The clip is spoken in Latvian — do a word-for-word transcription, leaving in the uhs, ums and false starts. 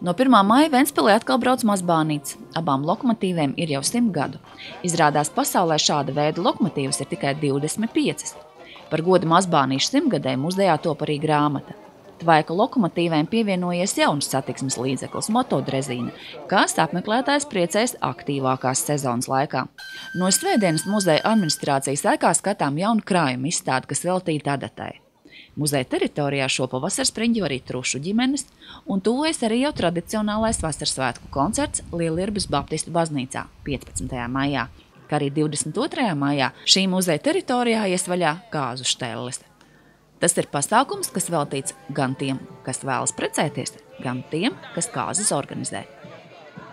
No pirmā maija Ventspilī atkal brauc mazbānītes. Abām lokomotīvēm ir jau simt gadu. Izrādās pasaulē šāda veida lokomotīvas ir tikai divdesmit piecas. Par godu mazbānīšu simtgadē muzdejā top arī grāmata. Tvaika lokomotīvēm pievienojies jauns satiksmes līdzeklis motodrezīna, kas apmeklētājs priecēs aktīvākās sezonas laikā. No svētdienas muzeja administrācijas ēkā skatām jaunu krājumu izstādi, kas veltīta adatai. Muzeja teritorijā šopavasar spriņģo arī trušu ģimenes, un tuvojas arī jau tradicionālais vasarsvētku koncerts Lielirbes Baptistu baznīcā piecpadsmitajā maijā, kā arī divdesmit otrajā maijā šī muzeja teritorijā ies vaļā kāzu štelles. Tas ir pasākums, kas veltīts gan tiem, kas vēlas precēties, gan tiem, kas kāzas organizē.